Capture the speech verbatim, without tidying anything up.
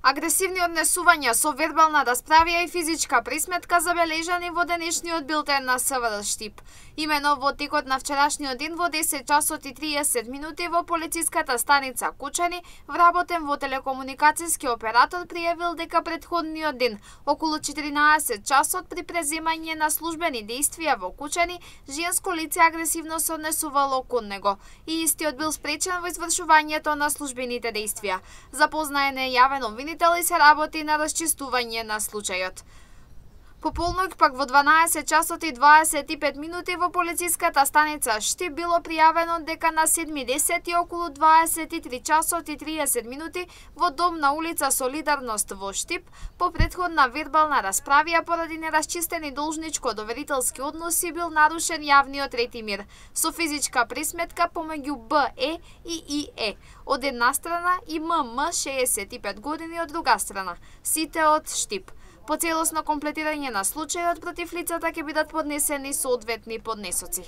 Агресивни однесувања со вербална расправија и физичка присметка забележани во денешниот билтен на СВР Штип. Имено во текот на вчерашниот ден во десет часот и триесет минути во полициската станица Кучани, вработен во телекомуникацијски оператор пријавил дека претходниот ден, околу четиринаесет часот при преземање на службени действија во Кучани, женско лице агресивно се однесувало кон него и истиот бил спречен во извршувањето на службените действија. Запознаен е јавен обвинител и се работи на расчистување на случајот. По полноќ пак во дванаесет часот и дваесет и пет минути во полициската станица Штип било пријавено дека на седми десети околу дваесет и три часот и триесет минути во дом на улица Солидарност во Штип по претходна вербална расправија поради нерасчистени должничко-доверителски односи бил нарушен јавниот ред и мир со физичка присметка помеѓу Б Е и И Е од една страна и М М шеесет и пет години од друга страна, сите од Штип. По целосно комплетирање на случајот против лицата ќе бидат поднесени соодветни поднесоци.